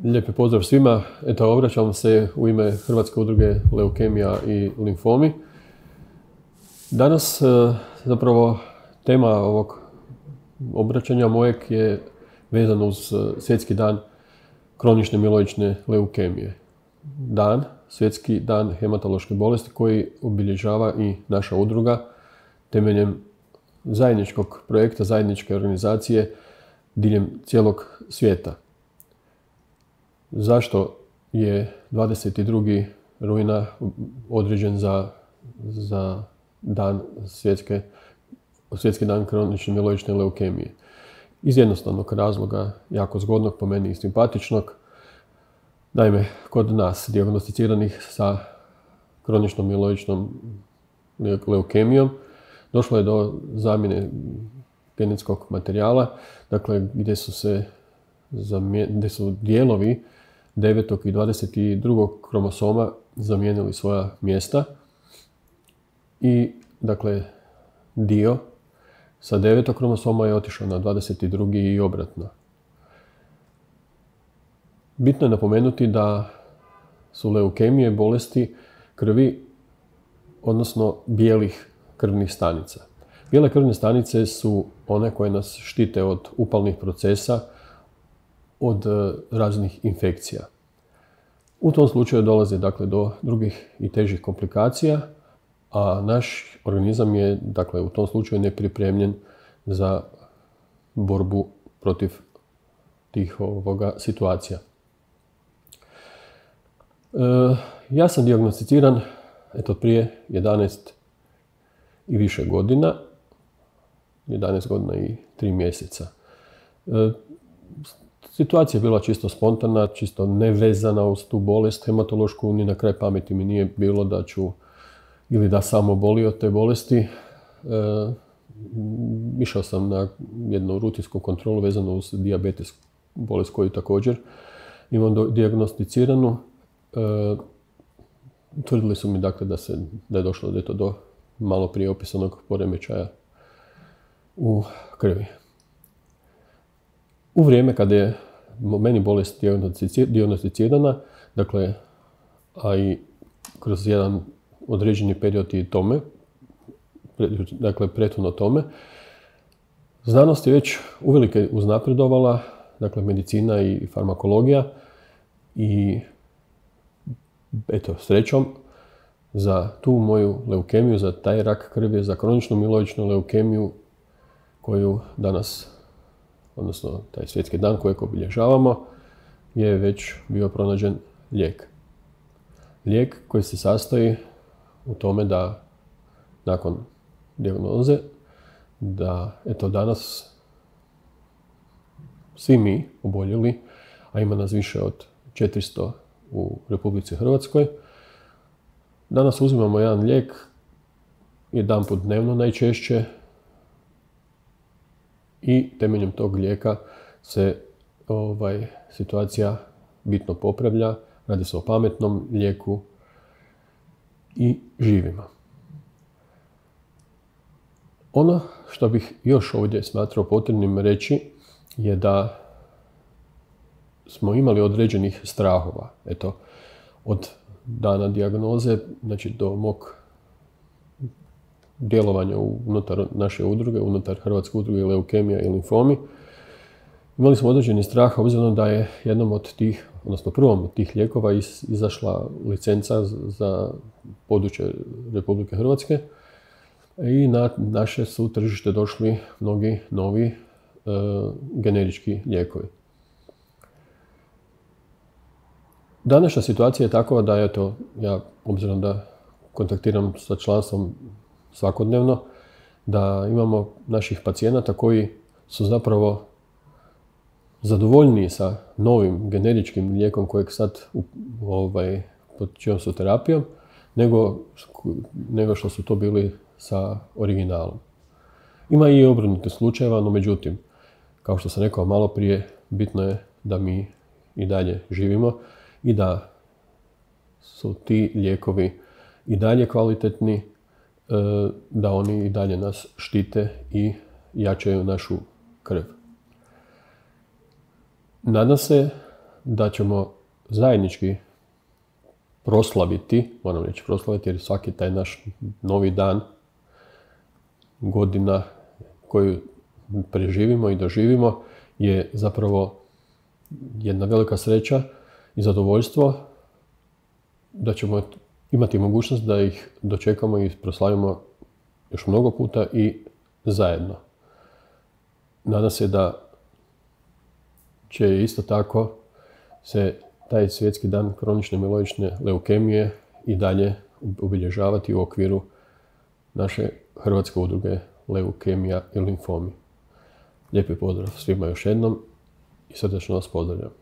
Lijepi pozdrav svima. Eto, obraćam se u ime Hrvatske udruge leukemija i limfomi. Danas zapravo tema ovog obraćanja mojeg je vezano uz Svjetski dan kronične miloične leukemije. Svjetski dan hematološke bolesti koji obilježava i naša udruga temeljem zajedničkog projekta, zajedničke organizacije diljem cijelog svijeta. Zašto je 22. rujna određen za dan Svjetski dan kronične miloične leukemije? Iz jednostavnog razloga, jako zgodnog, po meni i simpatičnog. Naime, kod nas dijagnosticiranih sa kroničnom miloičnom leukemijom došlo je do zamjene genetskog materijala, dakle gdje su dijelovi 9. i 22. kromosoma zamijenili svoja mjesta i dakle dio sa 9. kromosoma je otišao na 22. i obratno. Bitno je napomenuti da su leukemije bolesti krvi, odnosno bijelih krvnih stanica. Bijele krvne stanice su one koje nas štite od upalnih procesa, od raznih infekcija. U tom slučaju dolazi dakle do drugih i težih komplikacija, a naš organizam je dakle u tom slučaju nepripremljen za borbu protiv tih situacija. Ja sam dijagnosticiran prije 11 i više godina, 11 godina i 3 mjeseca. Situacija je bila čisto spontana, čisto nevezana uz tu bolest hematološku, ni na kraj pameti mi nije bilo da ću ili da sam obolio od te bolesti. Išao sam na jednu rutinsku kontrolu vezanu uz dijabetes, bolest koju također imam dijagnosticiranu. Tvrdili su mi dakle da je došlo do malo prije opisanog poremećaja u krvi. U vrijeme kada je meni bolest dijagnosticirana, dakle, a i kroz jedan određeni period i tome, dakle prethodno tome, znanost je već uvelike uznapredovala, dakle medicina i farmakologija, i eto, srećom, za tu moju leukemiju, za taj rak krvi, za kroničnu miloičnu leukemiju koju danas, odnosno taj svjetski dan kojeg obilježavamo, je već bio pronađen lijek. Lijek koji se sastoji u tome da nakon dijagnoze, da eto danas svi mi oboljeli, a ima nas više od 400 u Republici Hrvatskoj, danas uzimamo jedan lijek, jedanput dnevno najčešće, i temeljem tog lijeka se situacija bitno popravlja, radi se o pametnom lijeku i živimo. Ono što bih još ovdje smatrao potrebnim reći je da smo imali određenih strahova. Eto, od dana dijagnoze, znači do mog djelovanja unutar naše udruge, unutar Hrvatske udruge leukemija i limfomi, imali smo određeni strah obzirom da je jednom od tih, odnosno prvom od tih lijekova izašla licenca za područje Republike Hrvatske i na naše su tržište došli mnogi novi generički lijekovi. Današnja situacija je takva da eto, ja obzirom da kontaktiram sa članstvom svakodnevno, da imamo naših pacijenata koji su zapravo zadovoljniji sa novim generičkim lijekom kojeg sad pod čijom su terapijom, nego što su to bili sa originalom. Ima i obrnutih slučajeva, no međutim, kao što sam rekao malo prije, bitno je da mi i dalje živimo i da su ti lijekovi i dalje kvalitetni, da oni i dalje nas štite i jačaju našu krv. Nadam se da ćemo zajednički proslaviti, moram reći proslaviti, jer svaki taj naš novi dan, godina koju preživimo i doživimo je zapravo jedna velika sreća i zadovoljstvo da ćemo imati mogućnost da ih dočekamo i proslavimo još mnogo puta i zajedno. Nadam se da će isto tako se taj svjetski dan kronične miloične leukemije i dalje obilježavati u okviru naše Hrvatske udruge leukemija i limfomi. Lijepi pozdrav svima još jednom i srdečno vas pozdravljam.